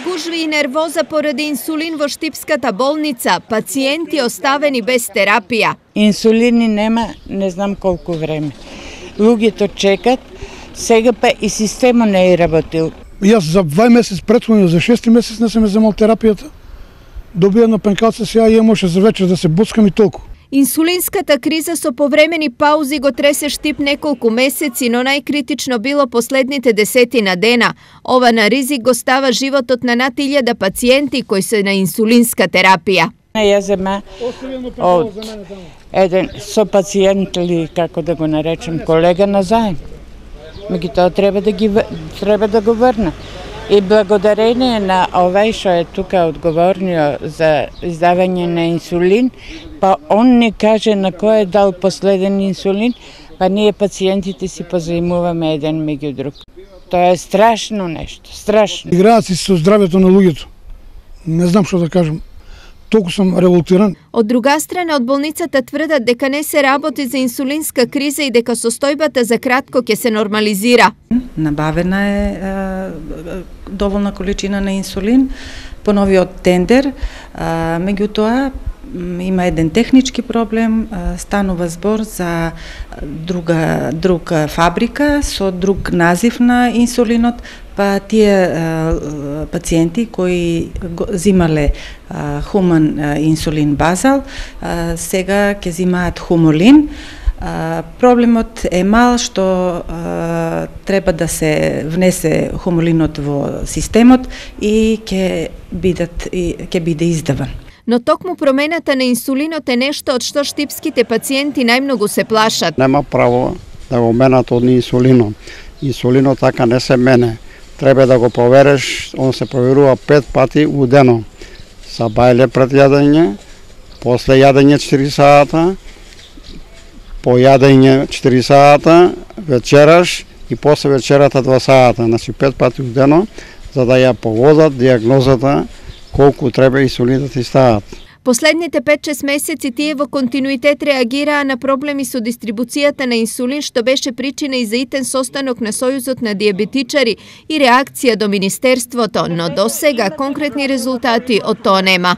Гужви и нервоза поради инсулин во Штипската болница, пациенти оставени без терапија. Инсулини нема, не знам колку време. Луѓето чекат, сега па и системот не е работил. Јас за 2 месец претходно, за 6 месец не сум земал терапијата. Добија на пенкалца, сега ја може за вечер да се боцкам и толку. Инсулинската криза со повремени паузи го тресе Штип неколку месеци, но најкритично било последните 10 дена. Ова на ризик го става животот на над 1000 пациенти кои се на инсулинска терапија. Ја зема од еден сопациент или како да го наречем колега на заем. Меѓутоа треба да го врна. И благодарение на овај што е тука одговорниот за издавање на инсулин, па он не каже на кој е дал последен инсулин, па ние пациентите си позаимуваме еден меѓу друг. Тоа е страшно нешто, страшно. Играат си со здравјето на луѓето. Не знам што да кажам. Толку сум револтиран. Од друга страна, од болницата тврдат дека не се работи за инсулинска криза и дека состојбата за кратко ќе се нормализира. Набавена е доволна количина на инсулин по новиот тендер, меѓутоа има еден технички проблем, станува збор за друга фабрика со друг назив на инсулинот, па тие пациенти кои зимале хуман инсулин базал, сега ќе зимаат хумолин. Проблемот е мал што треба да се внесе хумолинот во системот и ќе биде издаван. Но токму промената на инсулинот е нешто од што штипските пациенти најмногу се плашат. Нема право да го менат од инсулинот. Инсулинот така не се мене. Треба да го провериш, он се проверува 5 пати у дено. Са бајле пред јадење, после јадење 4 сата, по јадење 4 сата, вечераш и после вечерата 2 сата. Значи 5 пати у дено, за да ја погодат диагнозата колку треба инсулин да ти стават. Последните 5-6 месеци тие во континуитет реагираа на проблеми со дистрибуцијата на инсулин, што беше причина и за итен состанок на Сојузот на диабетичари и реакција до Министерството, но до сега конкретни резултати од тоа нема.